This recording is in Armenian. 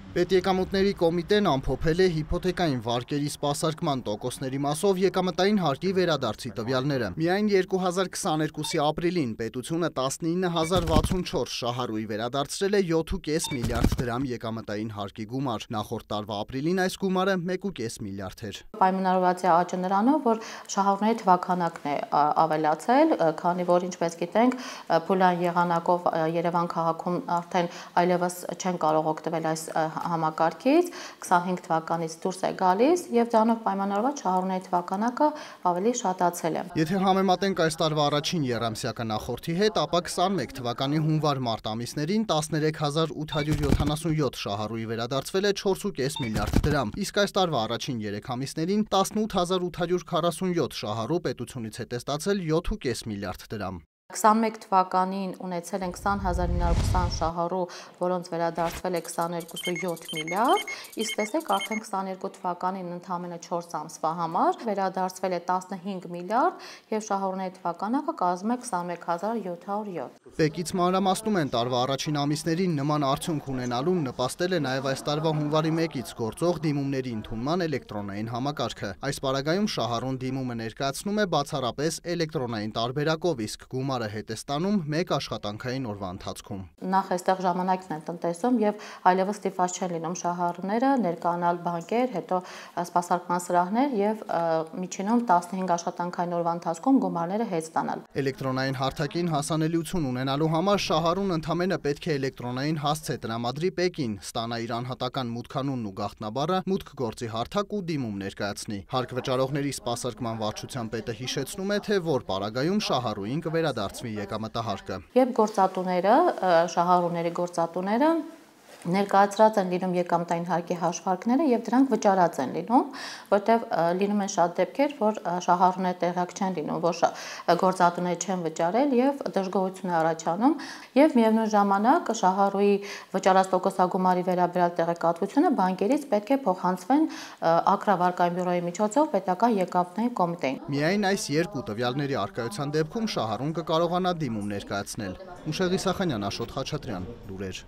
Պետեկամուտների կոմիտեն ամփոփել է հիփոթեկային վարկերի սպասարկման տոկոսների մասով եկամտային հարկի վերադարձի տվյալները։ Միայն 2022-ի ապրիլին պետությունը 19064 շահառուի վերադարձրել է 7.5 միլիարդ դրամ եկամտային հարկի գումար։ Նախորդ տարվա ապրիլին այս գումարը 1.5 միլիարդ էր։ Պայմանավորված է աճը նրանով, որ շահառուների թվաքանակն է ավելացել, քանի որ ինչպես գիտենք, փուլային եղանակով Երևան քաղաքում արդեն այլևս չեն կարող օգտվել այս համակարգից 25 թվականից դուրս է գալիս եւ դրանով պայմանավորված շահառուների թվականակը ավելի շատացել է։ Եթե համեմատենք այս տարվա առաջին եռամսյակը նախորդի հետ, ապա 21 թվականի հունվար-մարտ ամիսներին 13877 շահառուի վերադարձվել է 4.5 միլիարդ դրամ, իսկ այս տարվա առաջին 3 ամիսներին 18847 շահառու պետությունից է տեստացել 7.5 միլիարդ դրամ։ 21 թվականին ունեցել են 20920 շահառու, որոնց վերադարձվել է 22.7 միլիարդ, իսկ տեսեք արդեն 22 թվականին ընդամենը 4 ամսվա համար վերադարձվել է 15 միլիարդ եւ շահառուների թվականակը կազմում է 21707։ Պեկից մանրամասնում են տարվա առաջին ամիսներին նման արդյունք ունենալուն նպաստել է նաեւ այս տարվա հունվարի 1-ից գործող դիմումների ընդունման էլեկտրոնային համակարգը։ Այս պարագայում շահառուն դիմումը ներկայացնում է բացառապես էլեկտրոնային տարբերակով, իսկ գումարը հետ է ստանում մեկ աշխատանքային օրվա ընթացքում։ Նախ այստեղ ժամանակն են տնտեսում եւ այլևս ստիպված չեն լինում շահառուները ներկայանալ բանկեր, հետո սպասարկման սրահներ եւ միջինում 15 աշխատանքային օրվա ընթացքում գումարները հետ ստանալ։ Էլեկտրոնային հարթակին հասանելիություն ունենալու համար շահառուն ընդամենը պետք է էլեկտրոնային հասցե տրամադրի Պեկին, ստանա իր անհատական մուտքանունն ու գաղտնաբառը, մուտք գործի հարթակ ու դիմում ներկայացնի։ Հարկ վճարողների սպասարկման վարչության պետը հիշեցնում է, թե որ պարագայում շահառուին կվերադարձվի եկամտահարկը։ Երբ գործատուները, շահառուների գործատուները ներկայացրած են լինում եկամտային հարկի հաշվարկները եւ դրանք վճարած են լինում, որտեղ լինում են շատ դեպքեր, որ շահառուները տեղյակ չեն լինում, որ գործատուները չեն վճարել եւ դժգոհություն է առաջանում եւ միևնույն ժամանակ շահառուի վճարած տոկոսագումարի վերաբերյալ տեղեկատվությունը բանկերից պետք է փոխանցվեն ակրավարկային բյուրոյի միջոցով պետական եկամտների կոմիտեին։ Միայն այս երկու տվյալների առկայության դեպքում շահառուն կկարողանա դիմում ներկայացնել։ Ուշեղ Իսախանյան, Աշոտ Խաչատրյան, լուրեր։